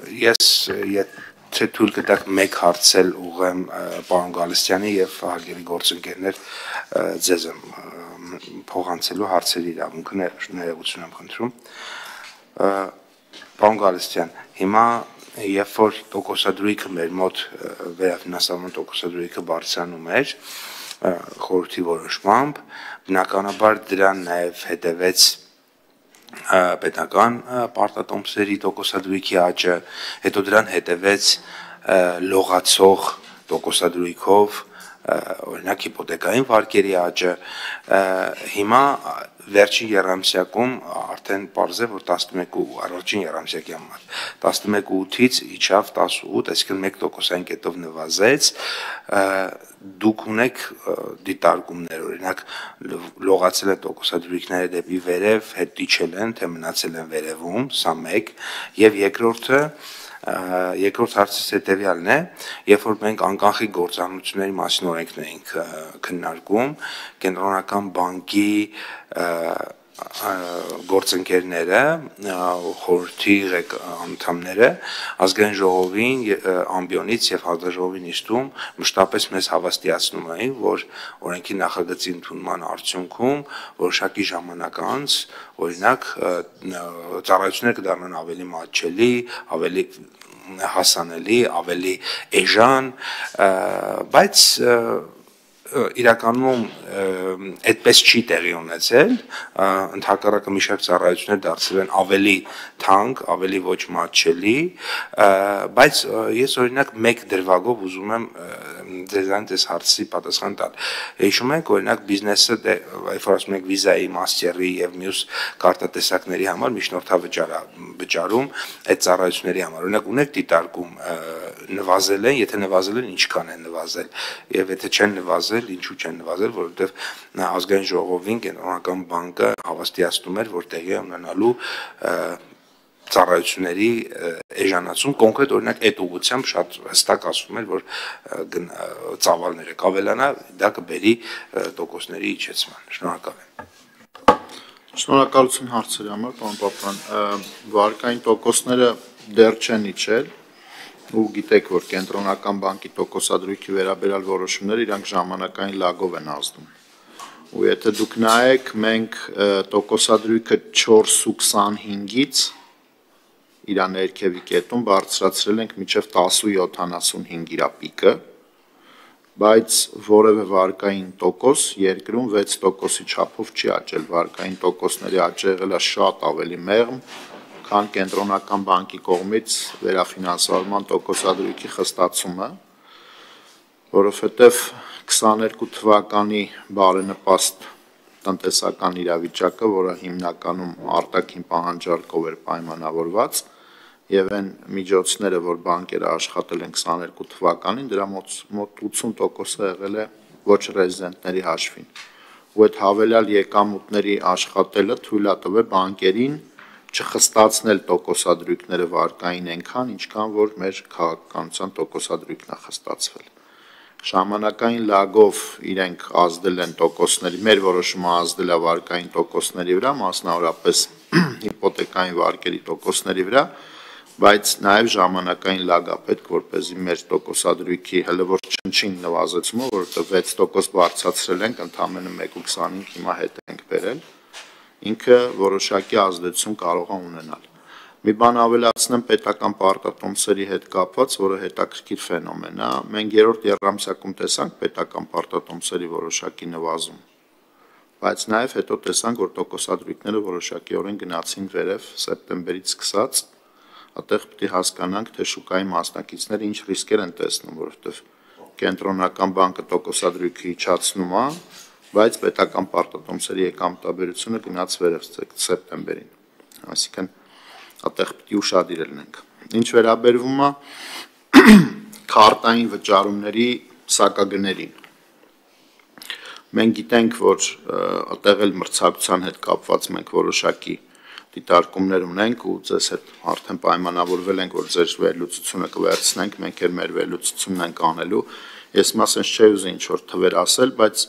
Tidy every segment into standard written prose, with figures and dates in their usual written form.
Ես եթե թույլ կտաք մեկ հարցել ուղղեմ պարոն Գալստյանի եւ հարգելի գործընկերներ ձեզ եմ փոխանցելու հարցերի իրավունքը ներողություն եմ խնդրում պարոն Գալստյան հիմա երբ որ տոկոսադրույքը մեր մոտ վերաֆինանսավորման տոկոսադրույքը բարձրանում էր խորհրդի որոշմամբ բնականաբար դրան նաեւ հետևեց պետական պարտատոմսերի տոկոսադրույքի աճը, հետո դրան հետևեց լողացող տոկոսադրույքով, օրինակ հիպոթեկային վարկերի աճը, հիմա վերջին եռամսյակում արդեն պարզ է, որ 11 առաջին եռամսյակի համար 11.8-ից իջավ 18, այսինքն 1%-ային կետով նվազեց, դուք ունեք դիտարկումներ, օրինակ լողացել են տոկոսադրույքները դեպի վերև, հետ իջել են, թե մնացել են վերևում, սա մեկ, եւ երկրորդ հարցից հետեւյալն է, երբ որ մենք անկախի գործառնությունների մասին օրենքն էինք քննարկում, կենտրոնական բանկի գործընկերները, խորհրդի անդամները ազգային ժողովին ամբիոնից եւ հանձնաժողովի նիստում մշտապես մեզ հավաստիացնում էին, որ օրենքի նախագծի ընդունման արդյունքում որոշակի ժամանակ անց, օրինակ, ծառայությունները կդառնան ավելի մատչելի, ավելի հասանելի, ավելի էժան, բայց իրականում այդպես չի տեղի ունեցել, ընդհակառակը մի շարք ծառայություններ դարձել են ավելի թանկ, ավելի ոչ մատչելի, բայց ես օրինակ մեկ դրվագով ուզում եմ ձեզ հարցի պատասխան տալ։ Հիշում եք, օրինակ բիզնեսը, երբ որ ասում ենք վիզայի, մաստերի եւ մյուս կարտատեսակների համար միջնորդավճար վճարում այդ ծառայությունների համար։ Օրինակ ունեք դիտարկում նվազել են, եթե նվազել են, ինչքան են նվազել, եւ եթե չեն նվազել, ինչու չեն նվազել, որովհետեւ ազգային ժողովին կենտրոնական բանկը հավաստիացնում էր, որ տեղի է ունենալու ծառայությունների էժանացում, կոնկրետ օրինակ այդ ուղղությամբ շատ հստակ ասվում էր, որ ծավալները կավելանա, դա կբերի տոկոսների իջեցման։ Շնորհակալ եմ։ Շնորհակալություն հարցերի համար, պարոն Պապյան, վարկային տոկոսները դեռ չեն իջել, ու գիտեք, որ կենտրոնական բանկի տոկոսադրույքի վերաբերյալ որոշումները իրանք ժամանակային լագով են ազդում։ Ու եթե դուք նայեք, մենք տոկոսադրույքը 4.25-ից իր ներքևի կետում բարձրացրել ենք մինչև 10.75 իր պիկը, բայց որևէ վարկային տոկոս երկրում 6%-ի չափով չի աճել, վարկային տոկոսների աճը եղել է շատ ավելի մեղմ, քան կենտրոնական բանկի կողմից վերաֆինանսավորման տոկոսադրույքի խստացումը, որովհետև 22 թվականի բարենպաստ տնտեսական իրավիճակը, որը հիմնականում արտաքին պահանջարկով էր պայմանավորված, եւ այն միջոցները, որ բանկերը աշխատել են 22 թվականին, դրա մոտ 80%-ը եղել է ոչ ռեզիդենտների հաշվին։ Ու այդ հավելյալ եկամուտների աշխատելը թույլ է տվել բանկերին չխստացնել տոկոսադրույքները վարկային այնքան, ինչքան որ մեր քաղաքականության տոկոսադրույքն է խստացվել։ Ժամանակային լագով իրենք ազդել են տոկոսների, մեր որոշումը ազդել է վարկային տոկոսների վրա, մասնավորապես հիպոթեկային վարկերի տոկոսների վրա, բայց նաև ժամանակային լագ է պետք, որպեսզի մեր տոկոսադրույքի հələ որ չնչին նվազեցումը, որովհետև 6% բարձրացրել ենք, ընդամենը 1.25 հիմա հետ ենք բերել, ինքը որոշակի ազդեցություն կարող է ունենալ։ Մի բան ավելացնեմ պետական պարտատոմսերի հետ կապված, որը հետաքրքիր ֆենոմեն է, մենք երրորդ եռամսյակում տեսանք պետական պարտատոմսերի որոշակի նվազում, բայց նաև հետո տեսանք, որ տոկոսադրույքները որոշակիորեն գնացին վերև սեպտեմբերից սկսած, այդտեղ պետք է հասկանանք, թե շուկայի մասնակիցները ինչ ռիսկեր են տեսնում, որովհետև կենտրոնական բանկը տոկոսադրույքը իջացնում է, բայց պետական պարտատոմսերի եկամտաբերությունը գնաց վերև սեպտեմբերին, այսինքն այդտեղ պետք է ուշադիր լինենք։ Ինչ վերաբերվում է քարտային վճարումների սակագներին, մենք գիտենք, որ այդտեղ էլ մրցակցության հետ կապված մենք որոշակի դիտարկումներ ունենք ու ձեզ հետ արդեն պայմանավորվել ենք, որ ձեր վերլուծությունը կվերցնենք, մենք էլ մեր վերլուծությունն ենք անելու։ Ես մասենց չէի ուզի ինչ-որ թվեր ասել, բայց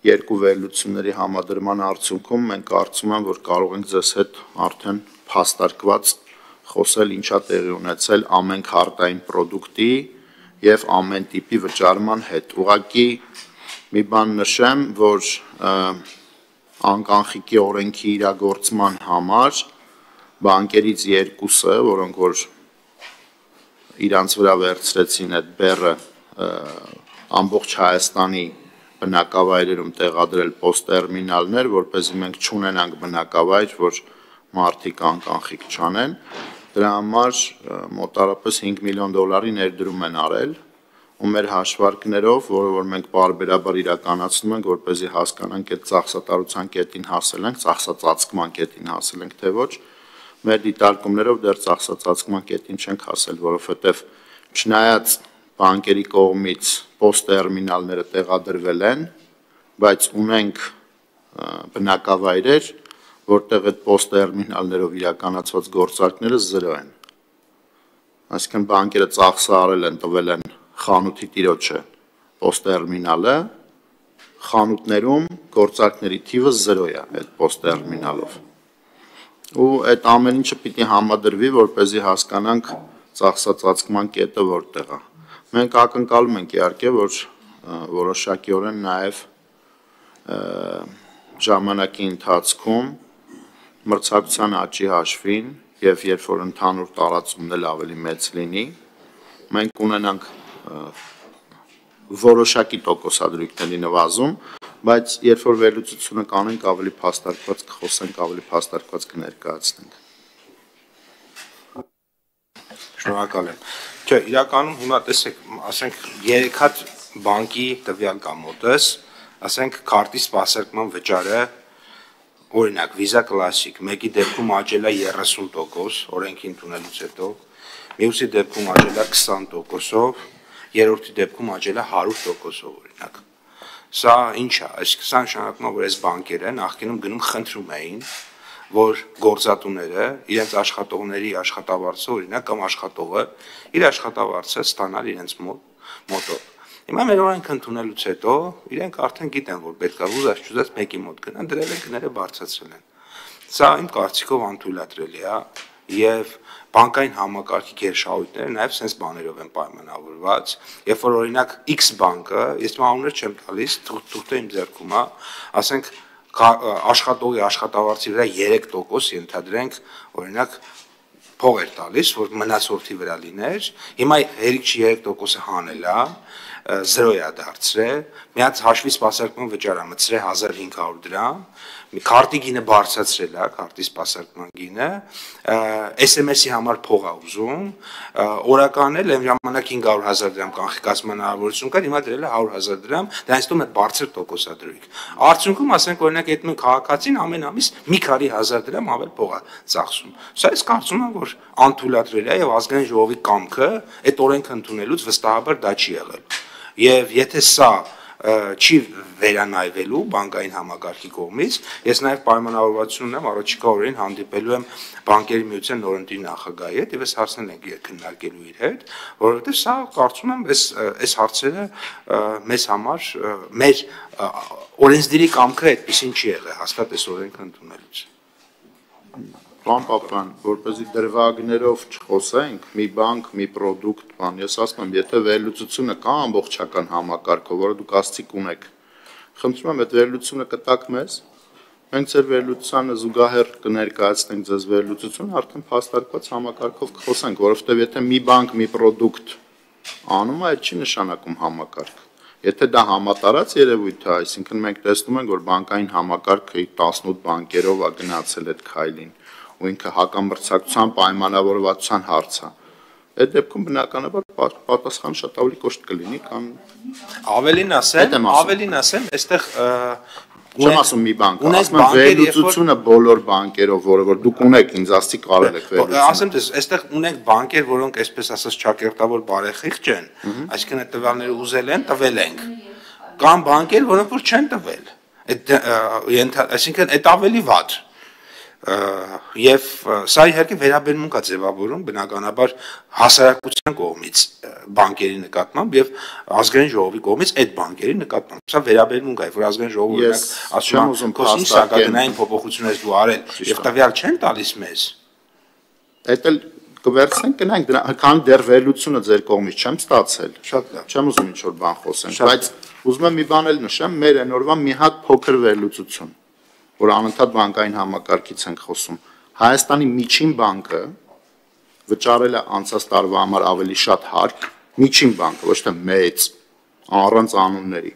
երկու վերլուծությունների համադրման արդյունքում մենք կարծում եմ, որ կարող ենք ձեզ հետ արդեն փաստարկված խոսել ինչա տեղի ունեցել ամեն քարտային պրոդուկտի եւ ամեն տիպի վճարման հետ։ Ուղղակի մի բան նշեմ, որ անկանխիկի օրենքի իրագործման համար բանկերից երկուսը, որոնք որ իրանց վրա վերցրեցին այդ բեռը ամբողջ Հայաստանի բնակավայրերում տեղադրել պոստտերմինալներ, որպեսզի մենք չունենանք բնակավայր, որ մարդիկ անկանխիկ չանեն, դրա համար մոտարապես $5 միլիոն ներդրում են արել, ու մեր հաշվարկներով, որը որ մենք պարբերաբար իրականացնում ենք, որպեսզի հասկանանք այդ ծախսատարության կետին հասել ենք, ծախսածածկման կետին հասել ենք, թե ոչ, մեր դիտարկումներով դեռ ծախսածածկման կետին չենք հասել, որովհետև չնայած բանկերի կողմից պոստտերմինալները տեղադրվել են, բայց ունենք բնակավայրեր, որտեղ այդ պոստտերմինալներով իրականացված գործարքները 0 են։ Այսինքն բանկերը ծախսը արել են, տվել են խանութի տիրոջը պոստտերմինալը, խանութներում գործարքների թիվը 0 է այդ պոստտերմինալով։ Ու այդ ամեն ինչը պիտի համադրվի, որպեսզի հասկանանք ծախսածածկման կետը որտեղ է։ Մենք ակնկալում ենք իհարկե, որ որոշակիորեն նաև ժամանակի ընթացքում մրցակցության աճի հաշվին եւ երբ որ ընդհանուր տարածումն էլ ավելի մեծ լինի, մենք ունենանք որոշակի տոկոսադրույքների նվազում, բայց երբ որ վերլուծությունը կանենք, ավելի փաստարկված կխոսենք, ավելի փաստարկված կներկայացնենք։ Շնորհակալ եմ։ Չէ, իրականում հիմա տեսեք, ասենք 3 հատ բանկի տվյալ կա մոտս, ասենք քարտի սպասարկման վճարը, օրինակ Visa Classic, մեկի դեպքում աճել է 30%, օրենքի ընդունելուց հետո, մյուսի դեպքում աճել է 20%-ով, երրորդի դեպքում աճել է 100%-ով, օրինակ։ Սա ինչ է, այսինքն սա նշանակում է, որ այս բանկերը նախկինում գնում խնդրում էին, որ գործատուները իրենց աշխատողների աշխատավարձը, օրինակ կամ աշխատողը իր աշխատավարձը ստանալ իրենց մոտով։ Հիմա մեր օրենքը ընդունելուց հետո իրենք արդեն գիտեն, որ պետք է ուզած մեկի մոտ գնան, դրել են գները բարձրացրել են։ Սա իմ կարծիքով անթույլատրելի է եւ բանկային համակարգի գերշահույթները նաև sense բաներով են պայմանավորված, երբ որ օրինակ X բանկը, ես անուններ չեմ տալիս, թուղթը իմ ձեռքում է, ասենք աշխատողի աշխատավարձի վրա 3% ենթադրենք, օրինակ փող էր տալիս, որ մնացորդի վրա լիներ, հիմա հերիք 3%-ը հանել է, 0 է դարձրել, մի հատ հաշվի սպասարկման վճար է մտցրել 1500 դրամ, քարտի գինը բարձրացրել է, քարտի սպասարկման գինը, SMS-ի համար փող է ուզում, օրական էլ այն ժամանակ 500,000 դրամ կանխիկացման հնարավորություն կար, հիմա դրել է 100,000 դրամ, դա ինձ թվում է բարձր տոկոսադրույք։ Արդյունքում ասենք օրինակ այդ նույն քաղաքացին ամեն ամիս մի քանի հազար դրամ ավել փող է ծախսում։ Սա ես կարծում եմ, որ անթույլատրելի է եւ ազգային ժողովի կամքը այդ օրենքը ընդունելուց վստահաբար դա չի եղել։ Եվ եթե սա չի վերանայվելու բանկային համակարգի կողմից, ես նաև պայմանավորվածություն ունեմ առաջիկա օրերին հանդիպելու եմ բանկերի միության նորընտիր նախագահի հետ եւ այս հարցներն ենք քննարկելու իր հետ, որովհետեւ սա կարծում եմ այս հարցերը մեզ համար մեր օրենսդիրի կամքը այդպեսին չի եղել հաստատ այս օրենքը ընդունելուց։ Պարոն Պապյան, որպեսզի դրվագներով չխոսենք, մի բանկ, մի պրոդուկտ, ես ասում եմ, եթե վերլուծությունը կա ամբողջական համակարգով, որը դուք ասցիք ունեք, խնդրում եմ այդ վերլուծությունը կտաք մեզ, մենք ձեր վերլուծությանը զուգահեռ կներկայացնենք ձեզ վերլուծությունը, արդեն փաստարկված համակարգով կխոսենք, որովհետև եթե մի բանկ, մի պրոդուկտ անում է, այդ չի նշանակում համակարգ։ Եթե դա համատարած երևույթ է, այսինքն մենք տեսնում ենք, որ բանկային համակարգը 18 բանկերով է գնացել այդ քայլին, ու ինքը հակամրցակցության պայմանավորվածության հարց է։ Այդ դեպքում բնականաբար պատասխանը շատ ավելի կոշտ կլինի, քան ավելին ասեմ, այստեղ չեմ ասում մի բանկ, ասում եմ վերլուծությունը բոլոր բանկերով, որը որ դուք ունեք, ինձ ասցիք կարել եք վերլուծություն։ Ասեմ դες, այստեղ ունենք բանկեր, որոնք այսպես ասած ճակերտավոր բարեխիղճ են, այսինքն այդ տվյալները ուզել են, տվել ենք։ Կան բանկեր, որոնք որ չեն տվել։ Այսինքն այդ ավելի վատ։ Եվ սա իհարկե վերաբերմունք է ձևավորում բնականաբար հասարակության կողմից բանկերի նկատմամբ եւ ազգային ժողովի կողմից այդ բանկերի նկատմամբ սա վերաբերմունք է որ ազգային ժողովը ասում է սակագնային փոփոխություններ դու արել եւ տվյալ չեն տալիս մեզ Այդ էլ կվերցնենք, գնանք դրա, քան դեռ վերլուծությունը ձեր կողմից չեմ ստացել։ Շատ լավ։ Չեմ ուզում ինչ-որ բան խոսենք, բայց ուզում եմ մի բան էլ նշեմ, մեր այն օրվա մի հատ փոքր վերլուծություն, որ անընդհատ բանկային համակարգից ենք խոսում։ Հայաստանի միջին բանկը վճարել է անցած տարվա համար ավելի շատ հարկ, միջին բանկը, ոչ թե մեծ, առանց անունների,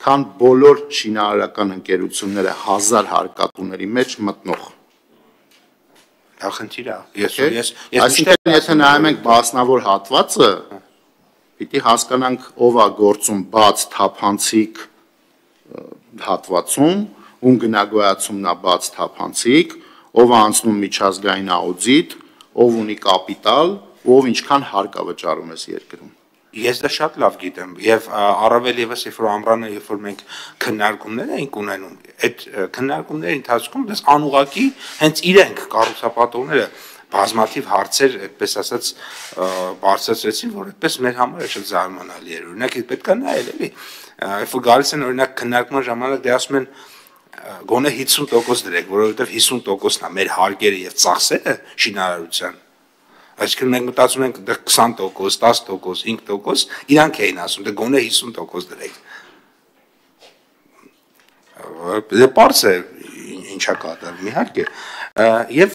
քան բոլոր շինարարական ընկերությունները 1000 հարկատուների մեջ մտնող։ Խնդիր է։ Այսինքն եթե նայում ենք մասնավոր հատվածը, պիտի հասկանանք ով է գործում բաց թափանցիկ հատվածում, ում գնագոյացումն է բաց թափանցիկ, ով է անցնում միջազգային աուդիտ, ով ունի կապիտալ, ով ինչքան հարկ է վճարում այս երկրում։ Ես դա շատ լավ գիտեմ եւ առավել եւս երբ որ ամռանը երբ որ մենք քննարկումներ էինք ունենում այդ քննարկումների ընթացքում դες անուղակի հենց իրենք կառուցապատողները բազմաթիվ հարցեր այդպես ասած բարձրացրեցին որ այդպես մեր համար շատ զարմանալի էր օրինակ պետք է նայել էլի երբ որ գալիս են օրինակ քննարկման ժամանակ դե ասում են գոնե 50% դրեք որովհետեւ 50%-ն է մեր հարկերը եւ ծախսերը շինարարության Այսինքն մենք մտածում ենք դեռ 20%, 10%, 5%, իրանք էին ասում, դե գոնե 50% դրեք։ Դե պարզ է ինչա կատարվում իհարկե։ Եվ